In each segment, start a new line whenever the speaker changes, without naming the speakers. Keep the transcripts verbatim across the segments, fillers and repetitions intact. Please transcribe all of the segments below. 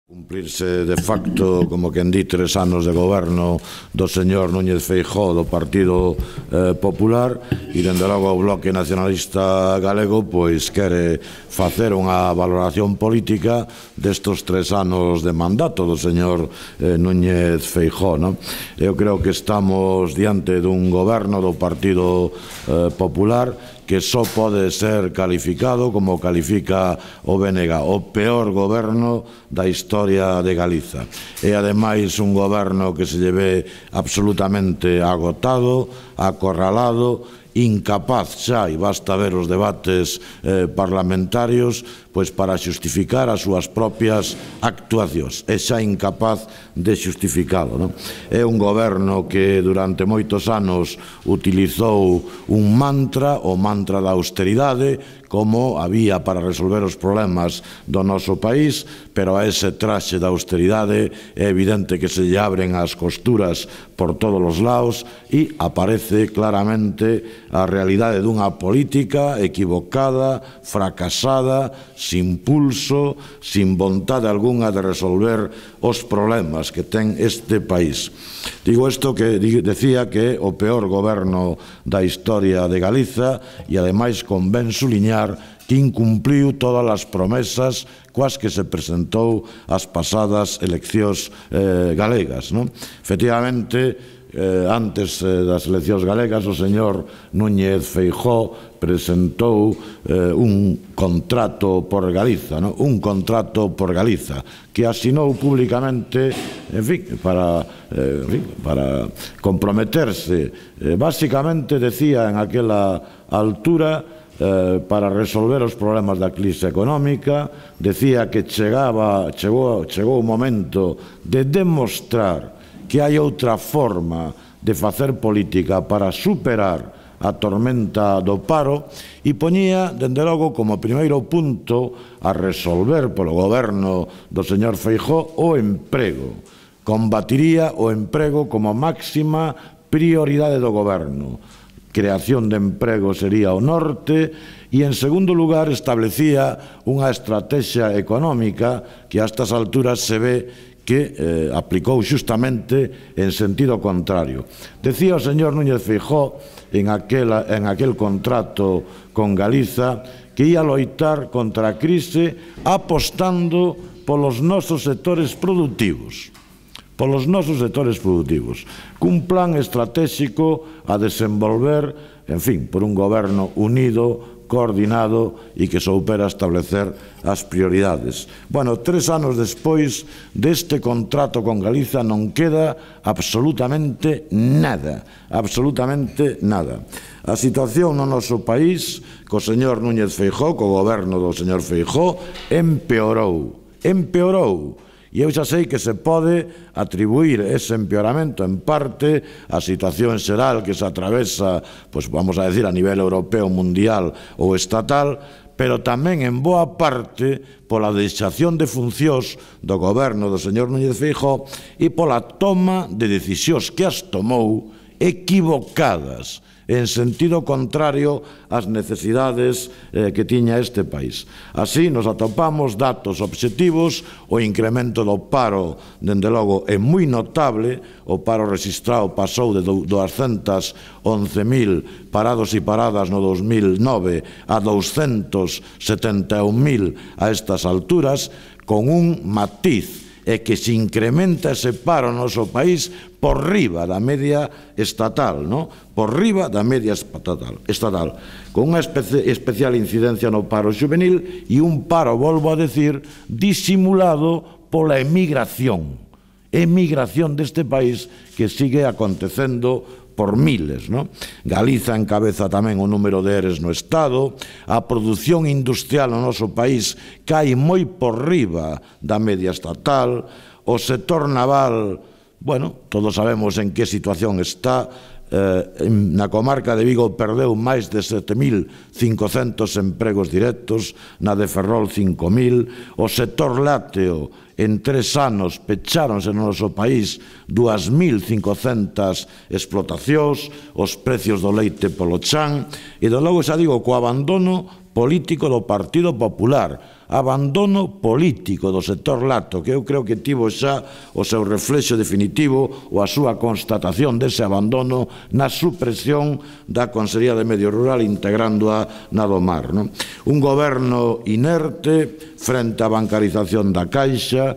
Cumplirse de facto, como quen di, tres anos de goberno do señor Núñez Feijóo do Partido eh, Popular, e dende logo o Bloque Nacionalista Galego pois quere facer unha valoración política destos tres anos de mandato do señor eh, Núñez Feijóo, non? Eu creo que estamos diante dun goberno do Partido eh, Popular que só pode ser calificado, como califica o B N G, o peor goberno da historia de Galiza. E, ademais, un goberno que se lle ve absolutamente agotado, acorralado, incapaz xa, e basta ver os debates eh, parlamentarios, pois para xustificar as súas propias actuacións. É xa incapaz de xustificalo, non? É un goberno que durante moitos anos utilizou un mantra, o mantra da austeridade, como había para resolver os problemas do noso país, pero a ese traxe da austeridade é evidente que se lle abren as costuras por todos os lados e aparece claramente a realidade dunha política equivocada, fracasada, sin pulso, sin vontade algunha de resolver os problemas que ten este país. Digo isto que decía que é o peor goberno da historia de Galiza e, ademais, convén suliñar que incumpliu todas as promesas coas que se presentou as pasadas eleccións eh, galegas, non? Efectivamente, Eh, antes eh, das eleccións galegas, o señor Núñez Feijóo presentou eh, un contrato por Galiza, ¿no? un contrato por Galiza, que asinou públicamente, en fin, para, eh, en fin, para comprometerse. Eh, básicamente, decía en aquela altura, Eh, para resolver os problemas da crise económica, decía que chegaba, chegou, chegou o momento de demostrar que hai outra forma de facer política para superar a tormenta do paro e poñía, dende logo, como primeiro punto a resolver polo goberno do señor Feijóo o emprego. Combatiría o emprego como máxima prioridade do goberno. Creación de emprego sería o norte e, en segundo lugar, establecía unha estrategia económica que a estas alturas se ve que eh, aplicou xustamente en sentido contrario. Decía o señor Núñez Feijóo en, aquela, en aquel contrato con Galiza que ia loitar contra a crise apostando polos nosos sectores productivos. polos nosos sectores productivos, cun plan estratégico a desenvolver, en fin, por un goberno unido, coordinado e que soupera establecer as prioridades. Bueno, tres anos despois deste contrato con Galiza non queda absolutamente nada, absolutamente nada. A situación no noso país, co señor Núñez Feijóo, co goberno do señor Feijóo, empeorou, empeorou. E eu xa sei que se pode atribuir ese empeoramento en parte á situación xeral que se atravesa, pois vamos a decir, a nivel europeo, mundial ou estatal, pero tamén en boa parte pola deixación de funcións do goberno do señor Núñez Feijóo e pola toma de decisións que as tomou equivocadas, en sentido contrario ás necesidades eh, que tiña este país. Así nos atopamos datos obxectivos, o incremento do paro, dende logo, é moi notable, o paro registrado pasou de douscentos e once mil parados e paradas no dos mil nove a douscentos setenta e un mil a estas alturas, con un matiz, é que se incrementa ese paro no noso país por riba da media estatal, no? Por riba da media estatal, estatal, con unha especie, especial incidencia no paro juvenil e un paro, volvo a decir, disimulado pola emigración, emigración deste país que sigue acontecendo por miles, non? Galiza encabeza tamén o número de eres no Estado, a produción industrial no noso país cae moi por riba da media estatal, o sector naval, bueno, todos sabemos en que situación está, eh, na comarca de Vigo perdeu máis de sete mil cincocentos empregos directos, na de Ferrol cinco mil, o sector lácteo en tres anos pecháronse no noso país dúas mil cincocentas explotacións, os precios do leite polo chan, e de logo xa digo, co abandono político do Partido Popular, abandono político do sector lácteo, que eu creo que tivo xa o seu reflexo definitivo ou a súa constatación dese abandono na supresión da Consellería de Medio Rural integrándoa na do mar. Un goberno inerte frente á bancarización da Caixa,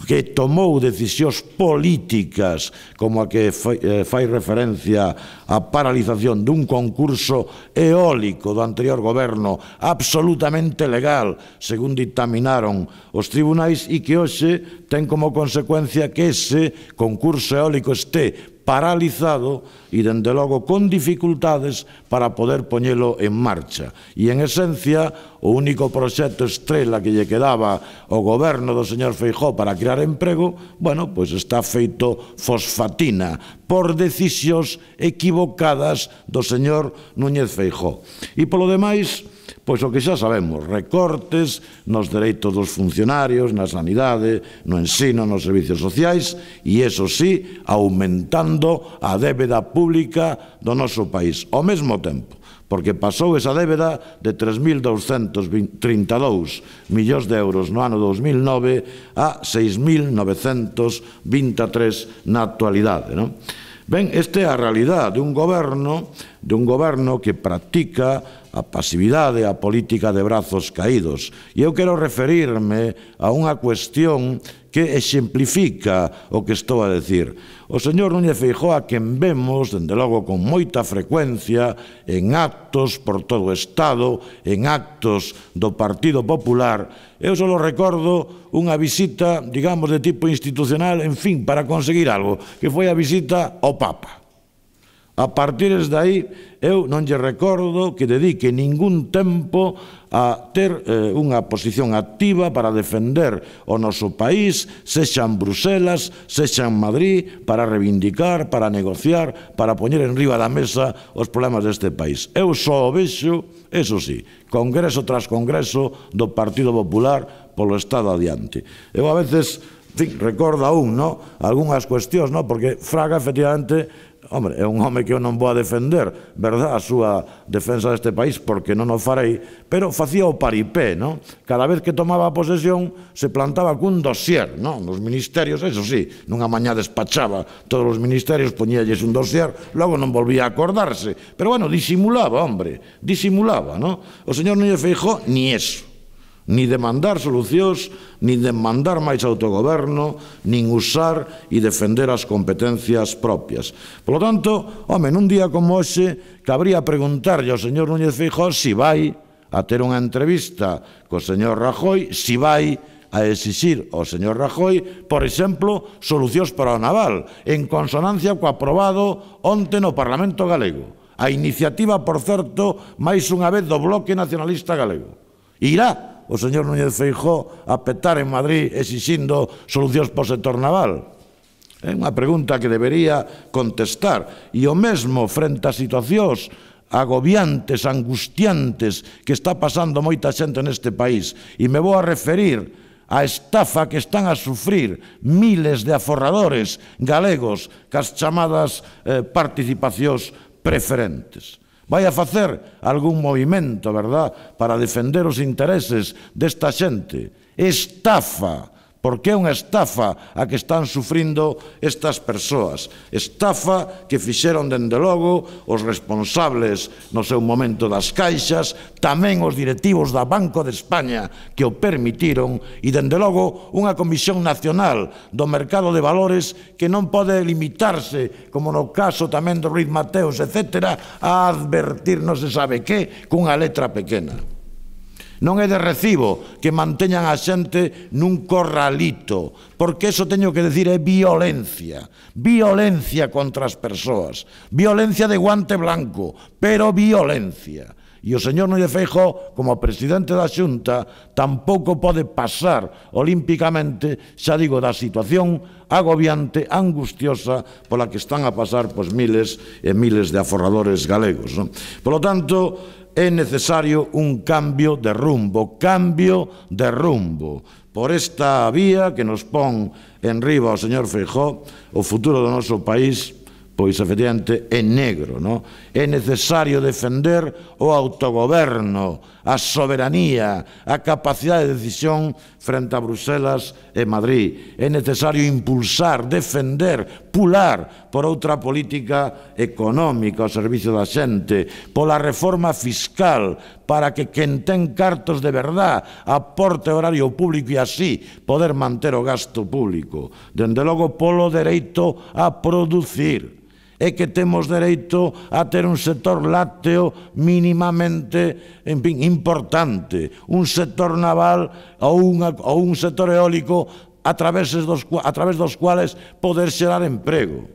que tomou decisións políticas como a que fai referencia á paralización dun concurso eólico do anterior goberno absolutamente legal, según dictaminaron os tribunais, e que hoxe ten como consecuencia que ese concurso eólico este paralizado e, dende logo, con dificultades para poder poñelo en marcha. E, en esencia, o único proxecto estrela que lle quedaba ao goberno do señor Feijóo para crear emprego, bueno, pois está feito fosfatina por decisións equivocadas do señor Núñez Feijóo. E, polo demais, pois o que xa sabemos, recortes nos dereitos dos funcionarios, na sanidade, no ensino, nos servicios sociais, e, iso sí, aumentando a débeda pública do noso país. Ao mesmo tempo, porque pasou esa débeda de tres mil douscentos trinta e dous millóns de euros no ano dos mil nove a seis mil novecentos vinte e tres na actualidade, non? Ben, esta é a realidade de un goberno, de un goberno que practica a pasividade, a política de brazos caídos. E eu quero referirme a unha cuestión que exemplifica o que estou a decir. O señor Núñez Feijóo, a quen vemos, dende logo, con moita frecuencia en actos por todo o Estado, en actos do Partido Popular, eu só recordo unha visita, digamos, de tipo institucional, en fin, para conseguir algo, que foi a visita ao Papa. A partir de aí, eu non lle recordo que dedique ningún tempo a ter eh, unha posición activa para defender o noso país, sexa en Bruselas, sexa en Madrid, para reivindicar, para negociar, para poñer en riba da mesa os problemas deste país. Eu só o vexo, eso sí, congreso tras congreso do Partido Popular polo Estado adiante. Eu a veces, en fin, recordo aún, no, algunhas cuestións, no, porque Fraga, efectivamente, hombre, é un home que eu non vou a defender, verdad, a súa defensa deste país, porque non o farei, pero facía o paripé, non? Cada vez que tomaba a posesión se plantaba cun dossier, non? Nos ministerios, eso sí, nunha mañá despachaba todos os ministerios, poñíalles un dossier, logo non volvía a acordarse, pero bueno, disimulaba, hombre, disimulaba, non? O señor Núñez Feijóo, ni eso. Ni demandar solucións, nin demandar máis autogoberno, nin usar e defender as competencias propias. Por lo tanto, home, nun día como hoxe, cabría preguntarlle ao señor Núñez Feijóo si vai a ter unha entrevista co señor Rajoy, si vai a exixir ao señor Rajoy, por exemplo, solucións para o naval, en consonancia co aprobado onte no Parlamento galego. A iniciativa, por certo, máis unha vez do Bloque Nacionalista Galego. Irá o señor Núñez Feijóo a petar en Madrid exixindo solucións para o sector naval? É unha pregunta que debería contestar. E o mesmo frente a situacións agobiantes, angustiantes que está pasando moita xente neste país. E me vou a referir a estafa que están a sufrir miles de aforradores galegos cas chamadas eh, participacións preferentes. Vai a facer algún movimento, verdad, para defender os intereses desta xente? Estafa, porque é unha estafa a que están sufrindo estas persoas. Estafa que fixeron, dende logo, os responsables no seu momento das caixas, tamén os directivos da Banco de España que o permitiron, e, dende logo, unha Comisión Nacional do Mercado de Valores que non pode limitarse, como no caso tamén do Ruiz Mateos, etcétera, a advertir non se sabe que cunha letra pequena. Non é de recibo que manteñan a xente nun corralito, porque eso teño que decir é violencia, violencia contra as persoas, violencia de guante blanco, pero violencia. E o señor Núñez Feijóo, como presidente da Xunta, tampouco pode pasar olímpicamente, xa digo, da situación agobiante, angustiosa, pola que están a pasar pois miles e miles de aforradores galegos, non? Por lo tanto, é necesario un cambio de rumbo, cambio de rumbo. Por esta vía que nos pon en riba o señor Feijóo, o futuro do noso país pois efectivamente é negro, non? É necesario defender o autogoberno, a soberanía, a capacidade de decisión frente a Bruselas e Madrid. É necesario impulsar, defender, pular por outra política económica ao servicio da xente, pola reforma fiscal, para que quen ten cartos de verdad aporte horario público e así poder manter o gasto público. Dende logo, polo dereito a producir. É que temos dereito a ter un sector lácteo mínimamente, en fin, importante, un sector naval ou, unha, ou un sector eólico a través dos, a través dos cuales poder xerar emprego.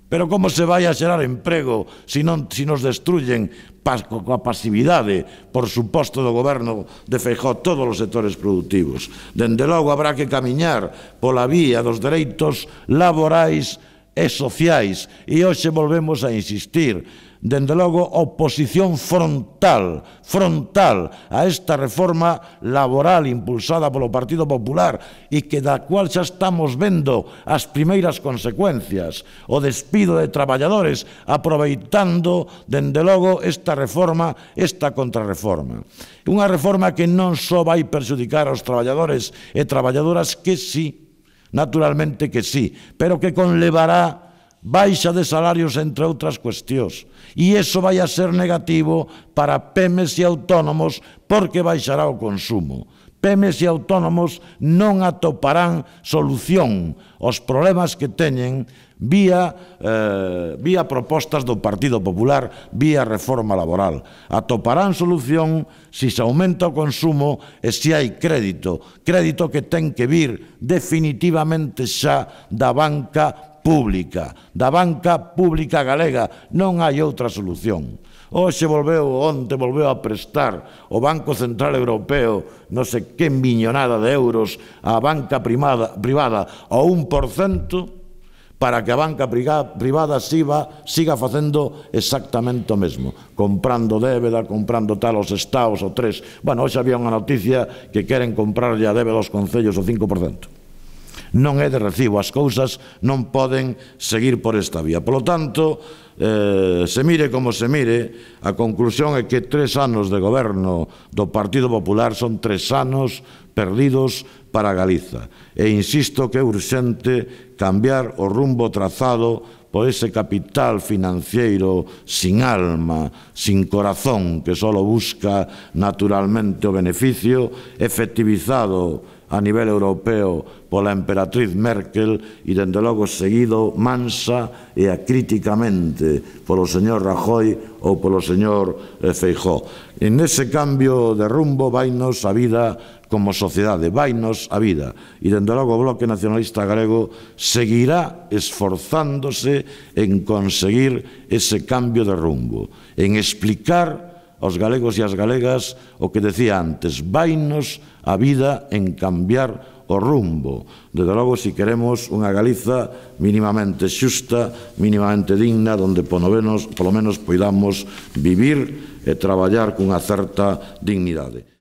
Pero como se vai a xerar emprego se non, se nos destruyen coa pasividade, por suposto, do goberno de Feijóo todos os sectores productivos? Dende logo, habrá que camiñar pola vía dos dereitos laborais e sociais, e hoxe volvemos a insistir, dende logo, oposición frontal, frontal a esta reforma laboral impulsada polo Partido Popular e que da cual xa estamos vendo as primeiras consecuencias, o despido de traballadores, aproveitando, dende logo, esta reforma, esta contrarreforma. Unha reforma que non só vai perxudicar aos traballadores e traballadoras, que sí, naturalmente que sí, pero que conlevará baixa de salarios, entre outras cuestións. E iso vai a ser negativo para pemes e autónomos, porque baixará o consumo. Pemes e autónomos non atoparán solución aos problemas que teñen vía, eh, vía propostas do Partido Popular, vía reforma laboral. Atoparán solución se se aumenta o consumo e se hai crédito, crédito que ten que vir definitivamente xa da banca pública, da banca pública galega. Non hai outra solución. Hoxe volveu, onte volveu a prestar o Banco Central Europeo non sei que millonada de euros á banca privada, privada ao un por cento, para que a banca privada siga, siga facendo exactamente o mesmo, comprando débeda, comprando tal aos estados, o tres. Bueno, hoxe había unha noticia que queren comprarlle a débeda aos concellos o cinco por cento. Non é de recibo, as cousas non poden seguir por esta vía. Por lo tanto, eh, se mire como se mire, a conclusión é que tres anos de goberno do Partido Popular son tres anos perdidos para Galiza. E insisto que é urxente cambiar o rumbo trazado por ese capital financiero sin alma, sin corazón, que só busca naturalmente o beneficio, efectivizado a nivel europeo pola emperatriz Merkel e, dende logo, seguido mansa e acríticamente polo señor Rajoy ou polo señor Feijóo. En ese cambio de rumbo vainos a vida como sociedade, vainos a vida. E, dende logo, o Bloque Nacionalista Galego seguirá esforzándose en conseguir ese cambio de rumbo, en explicar aos galegos e as galegas o que decía antes, vainos a vida en cambiar o rumbo. Desde logo, si queremos unha Galiza mínimamente xusta, mínimamente digna, onde polo menos, polo menos poidamos vivir e traballar cunha certa dignidade.